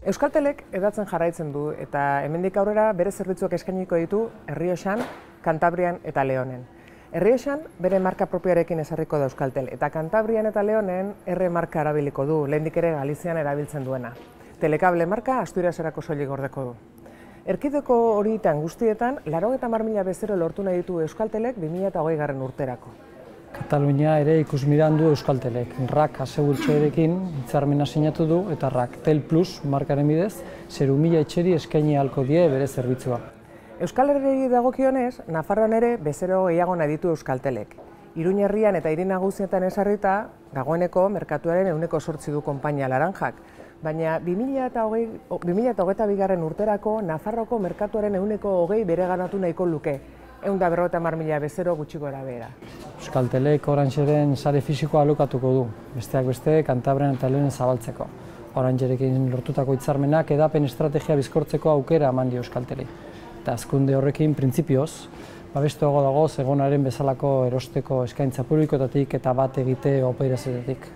Euskaltelek hedatzen jarraitzen du eta hemendik aurrera bere zerbitzuak eskainiko ditu Errioxan, Kantabrian eta Leonen. Errioxan bere marka propioarekin ezarriko da Euskaltel eta Kantabrian eta Leonen R marka erabiliko du, lehendik ere Galizian erabiltzen duena. Telekable marka Asturiaserako soilik gordeko du. Erkidego horietan guztietan 90.000 bezero lortu nahi ditu Euskaltelek 2020 urterako. Katalunia ere ikusmiran du Euskaltelek. RAK asegurtxoarekin hitzarmena sinatu du eta RAK Tel Plus markaren bidez 0.000 etxeri eskaini ahalko die bere zerbitzua. Euskal Herriari dagokionez, Nafarroan ere bezero gehiago nahi ditu Euskaltelek. Iruña herrian eta hiri nagusietan ezarrita, dagoeneko merkatuaren 8% du konpainia Laranjak. Baina 2022 urterako Nafarroko merkatuaren 20% bereganatu nahiko luke. 150.000 bezero gutxi gora behera. Euskaltelek Oranxeren sare fisikoa alokatuko du, besteak beste Kantabrian eta Leonen zabaltzeko. Oranxerekin lortutako hitzarmenak edapen estrategia bizkortzeko aukera eman dio Euskalteli. Eta hazkunde horrekin printzipioz, babestuago dago Zegonaren bezalako erosteko eskaintza publikoetatik eta bat egite operazioetatik.